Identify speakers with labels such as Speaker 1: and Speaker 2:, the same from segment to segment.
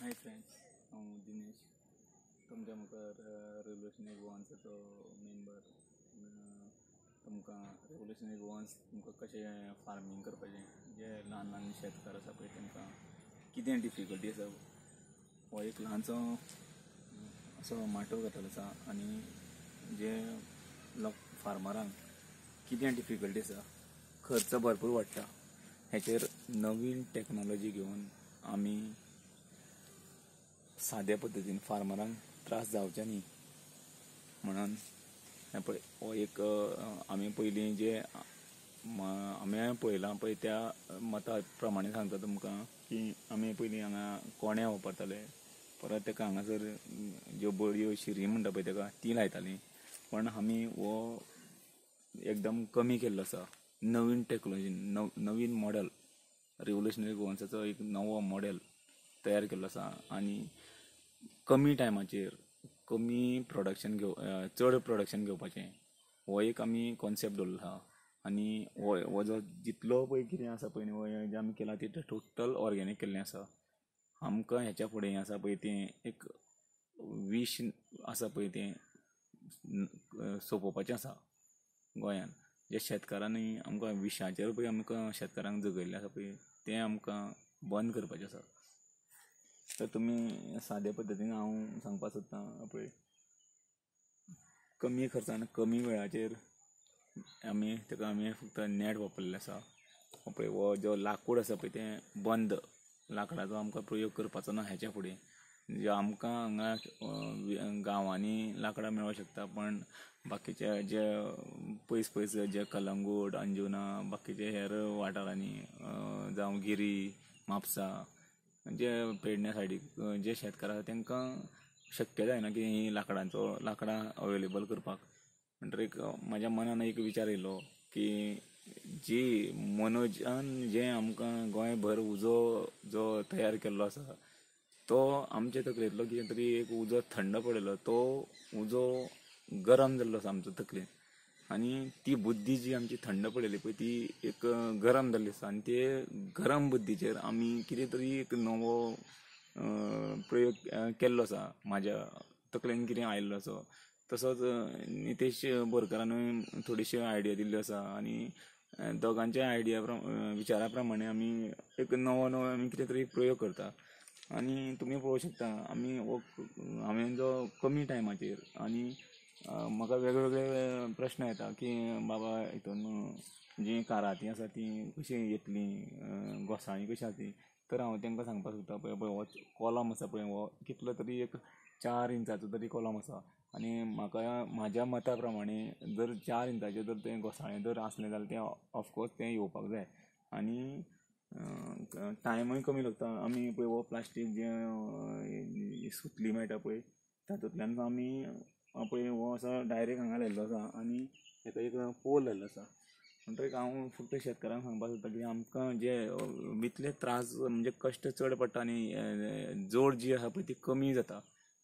Speaker 1: Hi friends, हांव दिनेश तुमच्या मुखार रेवोल्युशनरी गोवन्साचो मेंबर. तुमकां रेवोल्युशनरी गोवन्स तुमकां कशें फार्मींग करपाचें, जे ल्हान ल्हान शेतकार आसा पळय तांकां कितें डिफिकल्टी आसा, हो एक ल्हानसो असो माटोव घातलेलो आसा आनी जे लोक फार्मरांक कितें डिफिकल्टी आसा, खर्च भरपूर वाडटा, हेचेर नवीन टॅक्नोलॉजी घेवन आमी साद्या पद्दतीन फार्मरांक त्रास जावचे न्ही म्हणून हें पळय हो एक आमी पयलीं जे आमी पळयलां पळय त्या मता प्रमाणे सांगता तुमकां की आमी पयलीं हांगा कोणे वापरताले, परत ताका हांगासर ज्यो बडयो शिरी म्हणटा पळय ताका ती लायतालीं, पण आमी हो एकदम कमी केल्लो आसा. नवीन टॅक्नोलॉजी, नवीन मॉडल, रेवोल्युशनरी गोवन्साचो एक नवो मॉडल तयार केल्लो आसा आनी कमी टायमाचेर कमी प्रोडक्शन घेव चड प्रोडक्शन घेवपाचें हो एक आमी कॉन्सेप्ट दवरलो आसा. आनी हो जो जितलो पळय कितें आसा पळय न्ही, हो जें आमी केलां तें टोटल ऑर्गेनीक केल्लें आसा. आमकां हेच्या फुडें हें आसा पळय तें एक वीश आसा पळय तें सोंपोवपाचें आसा गोंयान. जे शेतकारांनी आमकां विशाचेर पळय आमकां शेतकारांक जगयल्लें आसा पळय तें आमकां बंद करपाचें आसा. तर तुमी सादे पद्दतीन हांव सांगपाक सोदतां पळय कमी खर्चान कमी वेळाचेर आमी ताका आमी फक्त नेट वापरलेलें आसा. पळय हो जो लाकूड आसा पळय तें बंद, लाकडाचो आमकां प्रयोग करपाचो ना हेच्या फुडें. जे आमकां हांगा गांवांनी लाकडां मेळोंक शकता, पण बाकीचे जे पयस पयस जे कलंगूट, अंजुना, बाकीचे हेर वाठारांनी जावं गिरी, म्हापसा, जे पेडण्या सायडीक जे शेतकार आसा तांकां शक्य जायना की ही लाकडांचो लाकडां अवेलेबल करपाक. म्हणटकीर एक म्हाज्या मनान एक विचार येयलो की जी मनोजान जें आमकां गोंयभर उजो जो तयार केल्लो आसा तो आमचे तकलेंतलो कितें तरी एक उजो थंड पडिल्लो, तो उजो गरम जाल्लो आसा आमच्या तकलेंत आनी ती बुद्दी जी आमची थंड पडिल्ली पळय ती एक गरम जाल्ली आसा आनी ते गरम बुद्दीचेर आमी कितें तरी एक नवो प्रयोग केल्लो आसा. म्हाज्या तकलेन कितें आयिल्लो आसा तसोच नितेश बोरकारानूय थोडीशी आयडिया दिल्ल्यो आसा आनी दोगांच्या आयडिया विचारा प्रमाणे आमी एक नवो नवो आमी कितें तरी प्रयोग करता. आनी तुमी पळोवंक शकता आमी हो हांवें जो कमी टायमाचेर आनी म्हाका वेगळे प्रश्न येता की बाबा हितून जीं कारातीं आसा तीं कशीं येतलीं, घोसाळीं कशीं आसा तीं, तर हांव तांकां सांगपाक सोदता पळय पळय हो कॉलम आसा पळय हो कितलो तरी एक 4 इंचाचो तरी कॉलम आसा आनी म्हाका म्हाज्या मता प्रमाणे जर 4 इंचाचें जर तें घोसाळें जर आसलें जाल्यार तें ऑफकोर्स तें येवपाक जाय आनी टायमूय कमी लागता. आमी पळय हो प्लास्टीक जें सुतली मेळटा पळय तातूंतल्यान आमी पळय हो असो डायरेक्ट हांगा लायिल्लो आसा आनी ताका एक पोल लायिल्लो आसा. म्हणटकीर हांव फक्त शेतकारांक सांगपाक सोदता की आमकां जे इतले त्रास म्हणजे कश्ट चड पडटा आनी जोड जी आसा पळय ती कमी जाता.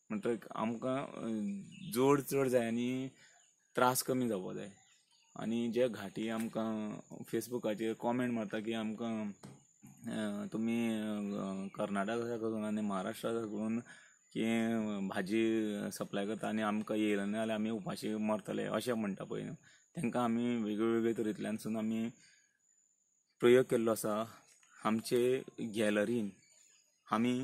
Speaker 1: म्हणटकीर आमकां जोड चड जाय आनी त्रास कमी जावपाक जाय. आनी जे घाटी आमकां फेसबुकाचेर कॉमेंट मारता की आमकां तुमी कर्नाटका करून आनी महाराष्ट्रा करून की भाजी सप्लाय करता आनी आमकां येयले ना जाल्यार आमी उपाशी मरतले अशें म्हणटा पळय न्हू, तांकां आमी वेगवेगळे तरेंतल्यानसून आमी प्रयोग केल्लो आसा. आमचे गॅलरीन आमी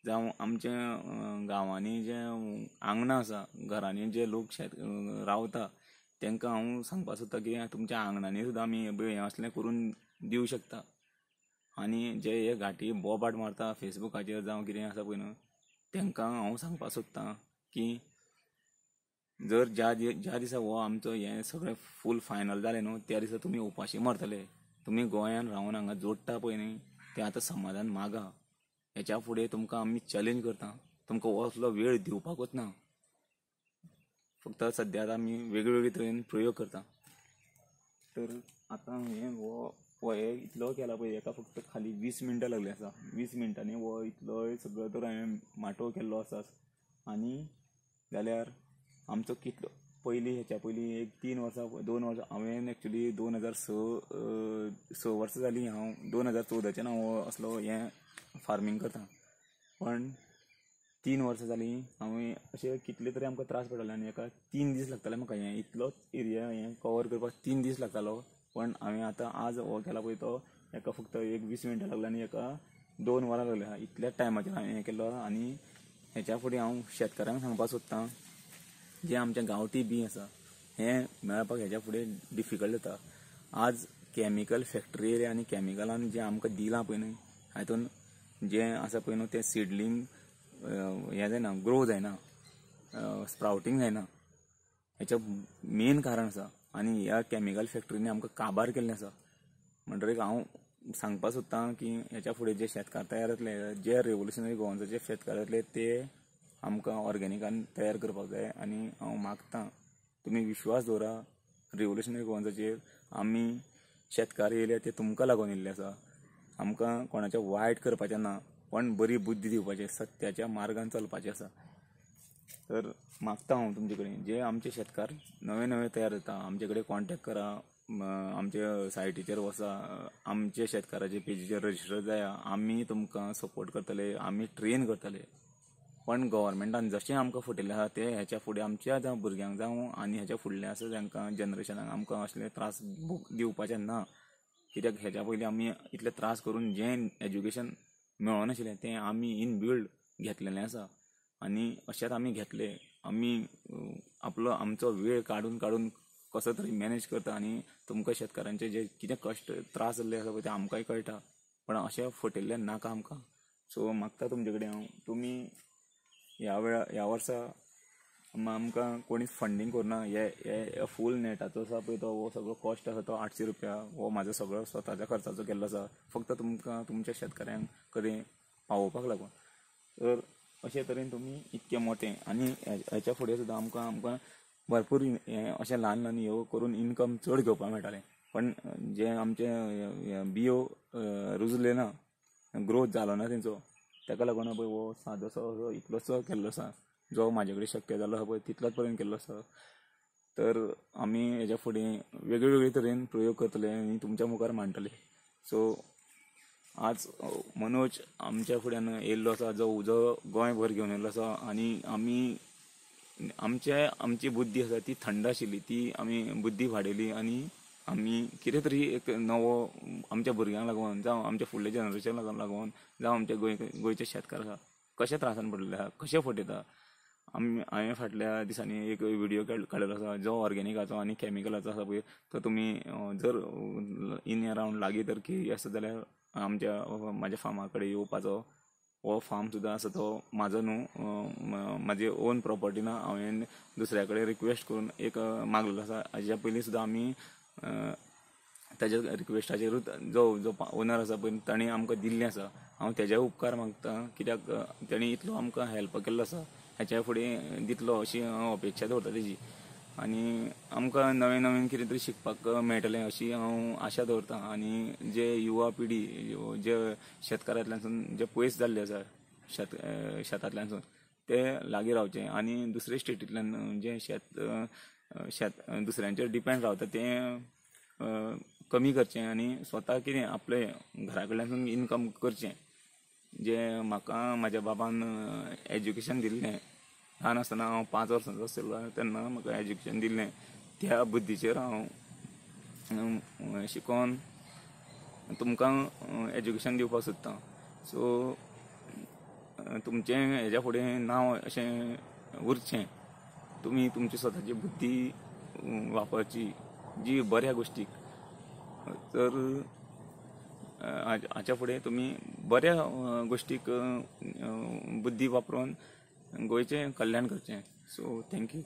Speaker 1: जावं आमच्या गांवांनी जे आंगणां आसा, घरांनी जे लोक शेत रावता तांकां हांव सांगपाक सोदता की तुमच्या आंगणांनी सुद्दां आमी हें असलें करून दिवं शकता. आनी जे हे घाटी बोबाट मारता फेसबुकाचेर जावं कितें आसा पळय न्हू, तांकां हांव सांगपाक सोदता की जर ज्या ज्या दिसा हो आमचो हें सगळें फूल फायनल जालें न्हू त्या दिसा तुमी उपाशी मरतले. तुमी गोंयान रावन हांगा जोडटा पळय न्ही तें आतां समाधान मागा. हेच्या फुडें तुमकां आमी चॅलेंज करता, तुमकां असलो वेळ दिवपाकूच ना. फक्त सद्या आतां आमी वेगवेगळे तरेन प्रयोग करता. तर आतां हें हो हे इतलो केला पळय हेका फक्त खाली 20 मिनटां लागली आसा. 20 मिनटांनी हो इतलो सगळो तर हांवें माटोव केल्लो आसा. आनी जाल्यार आमचो कितलो पयलीं हेच्या पयलीं एक 3 वर्सां 2 वर्सां हांवें एक्चुली 2006 वर्सां जालीं हांव 2014च्यान हांव असलो हें फार्मींग करता. पण 3 वर्सां जालीं हांवें अशें कितले तरी आमकां त्रास पडले आनी एका 3 दीस लागताले म्हाका हें इतलोच एरिया हें कवर करपाक 3 दीस लागतालो। पण हांवें आतां आज हो केला पळय तो एका फक्त एक 20 मिनटां लागला आनी एका 2 वरां लागल्या, इतल्याच टायमाचेर हांवें हें केलो। आनी हेच्या फुडें हांव शेतकारांक सांगपाक सोदतां, जें आमचें गांवठी बीं आसा हें मेळपाक हेच्या फुडें डिफिकल्ट जाता। आज कॅमिकल फॅक्टरी येयल्या आनी कॅमिकलान जें आमकां दिलां पळय न्हय हातून जें आसा पळय न्हू तें सिडलिंग हें जायना, ग्रो जायना, स्प्रावटींग जायना, हेचें मेन कारण आसा। आनी ह्या कॅमिकल फॅक्टरींनी आमकां काबार केल्लें आसा। म्हणटकीर हांव सांगपाक सोदतां की हेच्या फुडें जे शेतकार तयार जातले, जे रेवोल्युशनरी गोवन्साचे शेतकार जातले ते आमकां ऑर्गेनिकान तयार करपाक जाय। आनी हांव मागतां तुमी विश्वास दवरा रेवोल्युशनरी गोवन्साचेर। आमी शेतकार येयले ते तुमकां लागून येयल्ले आसा, आमकां कोणाचें वायट करपाचें ना, पण बरी बुद्धी दिवपाची, सत्याच्या मार्गान चलपाचें आसा। तर मागता हांव तुमचे कडेन, जे आमचे शेतकार नवे नवे तयार जाता आमचे कडेन कॉन्टेक्ट करा, आमच्या सायटीचेर वचा, आमचे शेतकाराचे पेजीचेर रजिस्टर जाया, आमी तुमकां सपोर्ट करतले, आमी ट्रेन करतले। पण गव्हर्मेंटान जशें आमकां फटयल्लें आसा तें हेच्या फुडें आमच्या जावं भुरग्यांक जावं आनी हेच्या फुडलें आसा तांकां जनरेशनाक आमकां असले त्रास दिवपाचे ना। कित्याक हेच्या पयलीं आमी इतले त्रास करून जें एज्युकेशन मेळनाशिल्लें तें आमी इन बिल्ड घेतलेलें आसा आनी अशेंच आमी घेतलें। आमी आपलो आमचो वेळ काडून काडून कसो तरी मॅनेज करता आनी तुमकां शेतकारांचे जे कितें कश्ट त्रास जाल्ले आसा पळय ते आमकांय कळटा, पण अशें फटयल्लें नाका आमकां। सो मागता तुमचे कडेन हांव, तुमी ह्या वेळा ह्या वर्सा आमकां कोणीच फंडींग करुना। हे फूल नेटाचो आसा पळय तो हो सगळो कॉस्ट आसा तो 800 रुपया, हो म्हाजो सगळो स्वताच्या खर्चाचो केल्लो आसा, फक्त तुमकां तुमच्या शेतकाऱ्यांक कडेन पावोवपाक लागून। तर अशे तरेन तुमी इतकें मोटें आनी हेच्या फुडें सुद्दां आमकां आमकां भरपूर हें अशें ल्हान ल्हान ह्यो करून इनकम चड घेवपाक मेळटालें, पण जें आमचें बियो रुजलें ना, ग्रोथ जालो ना तेंचो, ताका लागून पळय हो सादोसो इतलोसो केल्लो आसा, जो म्हाजे कडेन शक्य जालो आसा पळय तितलोच पर्यंत केल्लो आसा। तर आमी हेच्या फुडें वेगळे वेगळे तरेन प्रयोग करतले आनी तुमच्या मुखार मांडटले। सो आज मनोज आमच्या फुड्यान येयल्लो आसा, जो उजो गोंयभर घेवन येयल्लो आसा आनी आमी आमचे आमची बुद्धी आसा ती थंड आशिल्ली, ती आमी बुद्धी वाडयली आनी आमी कितें तरी एक नवो आमच्या भुरग्यांक लागून जावं आमच्या फुडल्या जनरेशनाक लागून जावं आमच्या गोंयचे शेतकार आसा कशे त्रासान पडलेले आसा, कशे फटयता। आमी हांवें फाटल्या दिसांनी एक व्हिडियो काडलेलो आसा जो ऑर्गेनिकाचो आनी कॅमिकलाचो आसा पळय, तो तुमी जर इन अरावंड लागीं तर की आसा जाल्यार आमच्या म्हाज्या फार्मा कडेन येवपाचो। हो फार्म सुद्दां आसा तो म्हाजो न्हू, म्हाजी ओन प्रोपर्टी ना, हांवें दुसऱ्या कडेन रिक्वेस्ट करून एक मागलेलो आसा। हाज्या पयलीं सुद्दां आमी ताज्या रिक्वेस्टाचेरूच जो जो ओनर आसा पळय ताणें आमकां दिल्लें आसा, हांव तेजे उपकार मागता, कित्याक तेणी इतलो आमकां हेल्प केल्लो आसा, हेच्या फुडें दितलो अशी हांव अपेक्षा दवरता तेजी। आनी आमकां नवें नवीन कितें तरी शिकपाक मेळटलें अशी हांव आशा दवरता। आनी जे युवा पिढी जे शेतकारांतल्यानसून जे पयस जाल्ले आसा शेतांतल्यानसून ते लागीं रावचे आनी दुसरे स्टेटींतल्यान जे शेत शेत दुसऱ्यांचेर डिपेंड रावता तें कमी करचें आनी स्वता कितें आपले घरा कडल्यानसून इनकम करचें। जें म्हाका म्हाज्या बाबान एज्युकेशन दिल्लें, ल्हान आसतना हांव 5 वर्सांचो आशिल्लो तेन्ना म्हाका एज्युकेशन दिल्लें, त्या बुद्धीचेर हांव शिकोन तुमकां एज्युकेशन दिवपाक सोदतां। सो तुमचें हेज्या फुडें नांव अशें उरचें, तुमी तुमची स्वताची बुद्धी वापरची जी बऱ्या गोश्टीक, तर हाच्या फुडें तुमी बऱ्या गोश्टीक बुद्धी वापरून गोंयचें कल्याण करचें। So thank you.